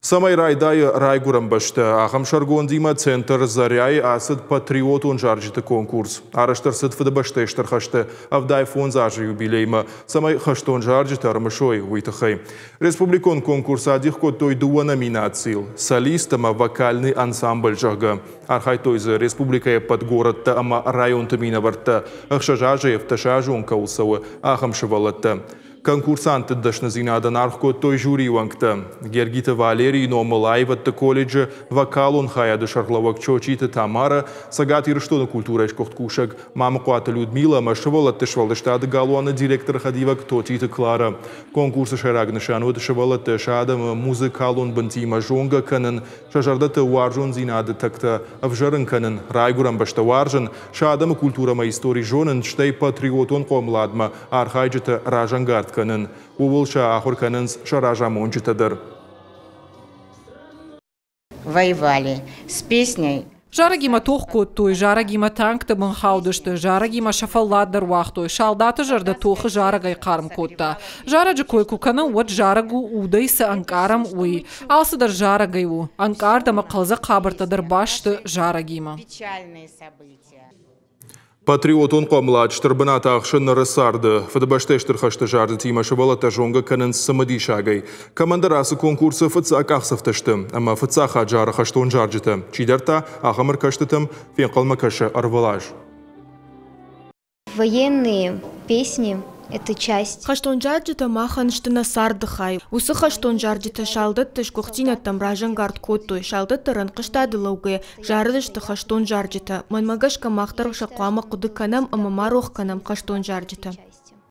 Цӕмӕй райдайы райгуырӕн бӕстӕ, ахӕм сӕргондимӕ центр Заряйы ацыд патриотон зарджыты конкурс. Арӕзт ӕрцыд Фыдыбӕстӕйы Стыр хӕсты 75 азы юбилеймӕ, цӕмӕй хӕстон зарджытӕ ӕрымысой, уый тыххӕй. Республикон конкурс адих кодтой дыууӕ номинацийыл – солист ӕмӕ вокальный ансамбль, зӕгъгӕ. Архайдтой дзы республикӕйы ӕппӕт горӕттӕ ӕмӕ районты минӕвӕрттӕ, 6 азӕй 17 азы кӕуыл цӕуы, ахӕм сывӕллӕттӕ. Конкурсантты дӕсныдзинадӕн аргъ кодтой жюрийы уӕнгтӕ. Гергиты Валерийы номыл аивӕдты колледжы вокалон хайады сӕргълӕууӕг Чочиты Тамара, Цӕгат Ирыстоны культурӕйы сгуыхт кусӕг Мамыхъуаты Людмила ӕмӕ сывӕллӕтты сфӕлдыстады галуаны директоры хӕдивӕг Тотиты Клара. Конкурсы сӕйраг нысан уыд сывӕллӕтты сӕ адӕмы музыкалон бынтимӕ зонгӕ кӕнын, сӕ зӕрдӕты уарзондзинады тӕгтӕ ӕвзӕрын кӕнын, райгуырӕн бӕстӕ уарзын, сӕ адӕмы культурӕ ӕмӕ истори зонын, стӕй патриотон хъомыладмӕ архайджыты разӕнгард кӕнын. Ууыл сӕ ахуыр кӕнынц сӕ разамонджытӕ дӕр. Воевали с песней. Зарӕгимӕ тох кодтой, зарӕгимӕ танкты бын хаудысты, зарӕгимӕ сӕ фӕллад дӕр уагътой, салдаты зӕрдӕ тохы зарӕгӕй хъарм кодта. Зарӕджы кой куы кӕнӕм, уӕд зарӕг у, удӕй цы ӕнкъарӕм, уый. Алцыдӕр зарӕгӕй у. Ӕнкъард ӕмӕ хъӕлдзӕг хабӕрттӕ дӕр баст сты зарӕгимӕ. Патриотон хъомылад стыр бынат ахсы ныры царды. Фыдыбӕстӕйы Стыр хӕсты зарджытимӕ сывӕллӕттӕ зонгӕ кӕнынц цымыдисагӕй. Кӕмӕндӕр ацы конкурсы фыццаг къахдзӕфтӕ сты ӕмӕ фыццаг хатт зары хӕстон зарджытӕ. Чидӕр та ахӕм ӕркӕстытӕм фенхъӕлмӕ кӕсы ӕрвылаз. Военные песни – это часть. Хӕстон зарджытӕ махӕн сты нӕ царды хай. Уыцы хӕстон зарджытӕ салдӕтты сгуыхтдзинӕдтӕм разӕнгард кодтой. Салдӕттӕ рӕнхъыстады лӕугӕйӕ зарыдысты хӕстон зарджытӕ. Мӕнмӕ гӕсгӕ мах дӕр сӕ хъуамӕ хъуыды кӕнӕм ӕмӕ ма рох кӕнӕм хӕстон зарджытӕ.